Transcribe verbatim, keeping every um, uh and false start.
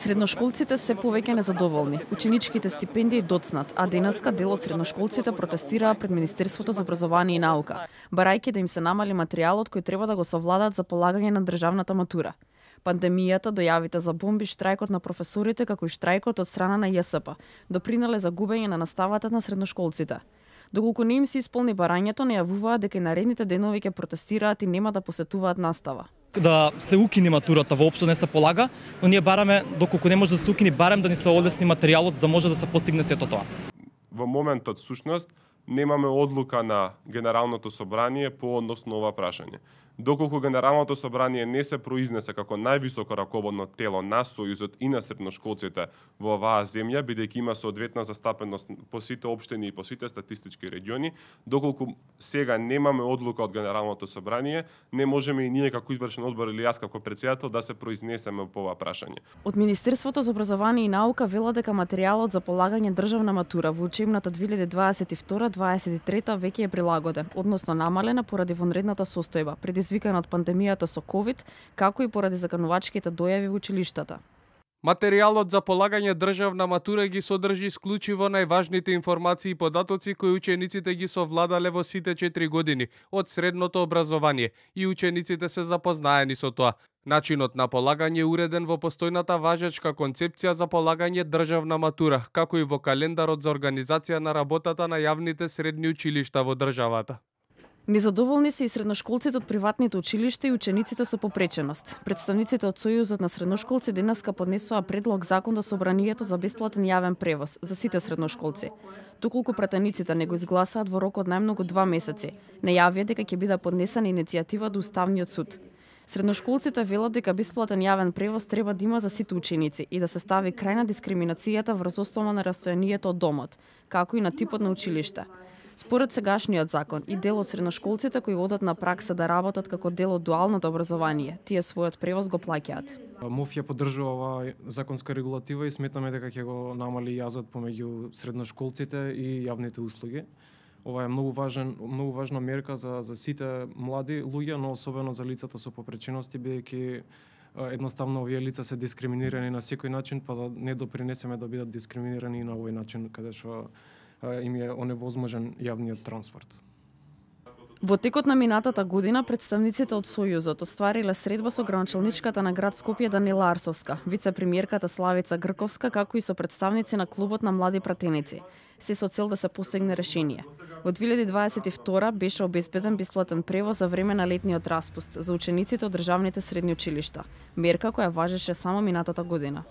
Средношколците се повеќе незадоволни. Ученичките стипендии доцнат, а денеска дел од средношколците протестираа пред Министерството за образование и наука, барајќи да им се намали материјалот кој треба да го совладат за полагање на државната матура. Пандемијата, дојавите за бомби, штрајкот на професорите, како и штрајкот од страна на Ја С П, допринале за губење на наставата на средношколците. Доколку не им се исполни барањето, најавуваа дека и наредните денови ќе протестираат и нема да посетуваат настава. Да се укини матурата, воопшто не се полага, но ние бараме, доколку не може да се укини, барем да ни се олесни материјалот за да може да се постигне сето тоа. Во моментот, сушност, немаме одлука на Генералното собрание по однос на ова прашање. Доколку Генералното собрание не се произнесе како највисоко раководно тело на Сојузот и на средношколците во оваа земја, бидејќи има соодветна застапеност по сите општини и по сите статистички региони, доколку сега немаме одлука од Генералното собрание, не можеме и ние како извршен одбор или јас како председател да се произнесеме по ова прашање. Од Министерството за образование и наука вела дека материјалот за полагање државна матура во учебната две илјади дваесет и втора - дваесет и трета веќе е прилагоден, односно намалена поради вонредната состојба, предизвикана од пандемијата со ковид, како и поради заканувачките дојави во училиштата. Материјалот за полагање државна матура ги содржи исклучиво најважните информации и податоци кои учениците ги совладале во сите четири години од средното образование и учениците се запознаени со тоа. Начинот на полагање е уреден во постојната важечка концепција за полагање државна матура, како и во календарот за организација на работата на јавните средни училишта во државата. Незадоволни се и средношколците од приватните училишта и учениците со попреченост. Представниците од Сојузот на средношколци денеска поднесоа предлог закон до собранието за бесплатен јавен превоз за сите средношколци. Доколку пратениците не го изгласаат во рок од најмногу два месеци, најавија дека ќе биде поднесена иницијатива до Уставниот суд. Средношколците велат дека бесплатен јавен превоз треба да има за сите ученици и да се стави крај на дискриминацијата врз основа на растојанието од домот, како и на типот на училиште. Според сегашниот закон и дел од средношколците кои одат на пракса да работат како дел од дуалното образование, тие својот превоз го плаќаат. МОФ ја поддржува оваа законска регулатива и сметаме дека ќе го намали јазот помеѓу средношколците и јавните услуги. Ова е многу важен, многу важна мерка за за сите млади луѓе, но особено за лицата со попречености, бидејќи едноставно овие лица се дискриминирани на секој начин, па да не допринесеме да бидат дискриминирани на овој начин каде што им е оневозможен јавниот транспорт. Во текот на минатата година представниците од Сојузот оствариле средба со градоначалничката на град Скопје Данила Арсовска, вице-премиерката Славица Грковска, како и со представници на клубот на млади пратеници, се со цел да се постигне решение. Во две илјади дваесет и втора беше обезбеден бесплатен превоз за време на летниот распуст за учениците од државните средни училишта, мерка која важеше само минатата година.